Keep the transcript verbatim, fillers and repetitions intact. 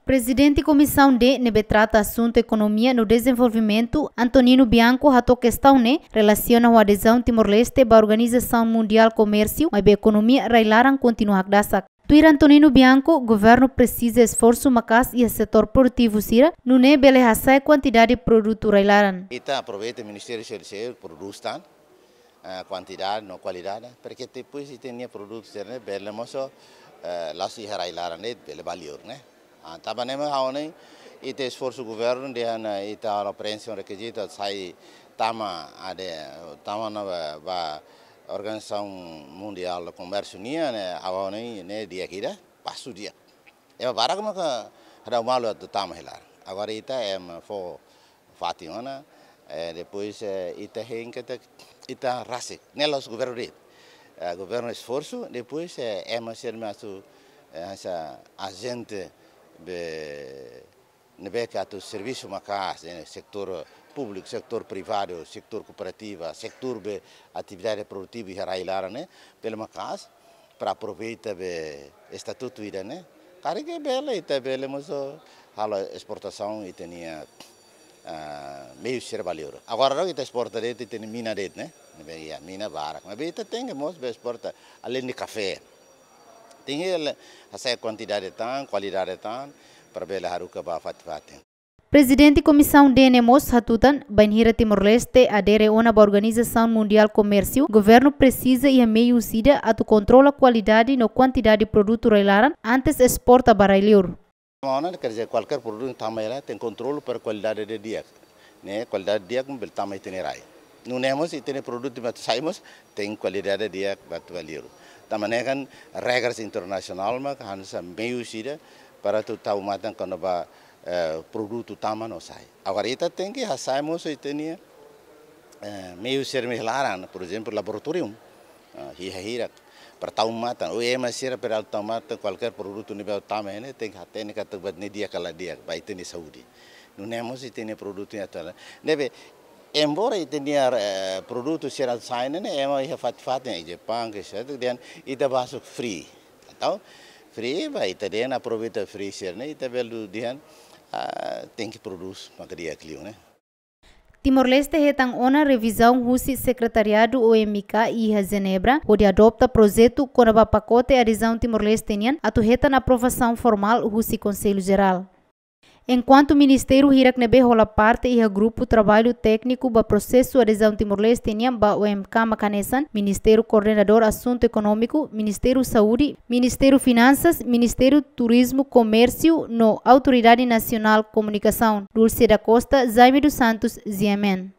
Prezidente Komisaun D ne'ebé trata asuntu ekonomia no dezenvolvimentu, Antonino Bianco, hato'o kestaun ne'e relasiona ho adezaun Timor-Leste ba Organizasaun Mundiál Komérsiu, maibé ekonomia rai-laran kontinua hakdasak. Tuir Antonino Bianco, governu presiza esforsu maka'as iha setór produtivu sira, nune'e bele hasa'e kuantidade produtu rai-laran. Ita aproveita Ministériu seluk-seluk, produz tan, eh, kuantidade no kualidade, para que depois ita-nia produtu sira-ne'e bele mós, eh, la'ós iha rai-laran de'it, bele ba liur, ne'e. Ah, tanba ne'e mak ha'u hanoin, ita esforsu governu dehan, eh, ita halo preenxe rekizitu, sai tama ade, tama ona ba, ba Organizasaun Mundiál Komérsiu nian, ne'e, ha'u hanoin, ne'e di'ak ida, pasu di'ak. Ema barak maka hadau malu atu tama hela. Agora ita ema fó fatin ona, eh, depois, eh, ita hein katak ita rasik. Ne'e la'ós governu de'it. Eh, governu esforsu, depois, eh, ema sira mak atu, eh, hanesan ajente be ne'ebé ke atu servisu maka'as, eh, setór públiku, setór privadu, setór kooperativa, setór be atividade produtivu iha rai-laran ne'e, bele maka'as, para aproveita be estatutu ida-ne'e. Karik bele, ita bele mós halo esportasaun ita-nia, ah, meiu sira ba liur. Agora loke ita esporta de'it, ita-nia mina de'it, ne'e? Ne'ebé iha mina barak. Maibé ita tenke mós be esporta, além de kafé. Tenke hasa'e kuantidade tan, kualidade tan, para bele haruka ba fatin-fatin. Prezidente Komisaun D ne'e mós hatutan, bainhira Timor-Leste adere ona ba Organizasaun Mundiál Komérsiu, governu presiza iha meius ida atu kontrola kualidade no kuantidade produtu rai-laran antes esporta ba rai-liur. Tama ona, quer dizer, kualkér produtu tama hela tenke kontrolu para kualidade di'ak. Ne'e, kualidade di'ak bele tama ita-nia rai. Nune'e mós ita-nia produtu mak atu sai mós tenke kualidade di'ak ba atu ba liur. Tanba ne'e kan regras internasionál mak hanesan meius ida para atu tau matan kona-ba, eh, produtu tama no sai. Agora ita tenke hasa'e mós ita-nia, eh, meius sira-ne'ebé iha laran, por ezemplu, laboratóriu, ah, iha hirak. Para tau matan, ou ema sira para tau matan, kualkér produtu ne'ebé tama ne'e, tenke hatene katak buat ne'e di'ak ka la di'ak, ba ita-nia saúde. Nune'e mós ita-nia produtu ne'e atu. Ne'ebé, embora ita-nia, eh, produtu sira sai ne'e, ema iha fatin-fatin, iha Japaun, ke sira dehan, ita ba suk free. Entaun, free, ba ita dehan aproveita free sira-ne'e, ita bele dehan, ah, tenke produz, maka di'ak liu, ne'e? Timor-Leste hetan ona revizaun husi Sekretariadu O M I K iha Jenebra, hodi adota projetu kona-ba pakote adezaun Timor-Leste nian atu hetan aprovasaun formál husi Konsellu Jerál. Enkuantu ministériu hirak ne'ebé hola parte iha grupu traballu tékniku ba prosesu adezaun Timor-Leste nian ba O M K mak hanesan, Ministériu Koordenadór Asuntu Ekonómiku, Ministériu Saúde, Ministériu Finansas, Ministériu Turizmu, Komérsiu no Autoridade Nasionál Komunikasaun. Dulce da Costa, Jaime dos Santos, G M N.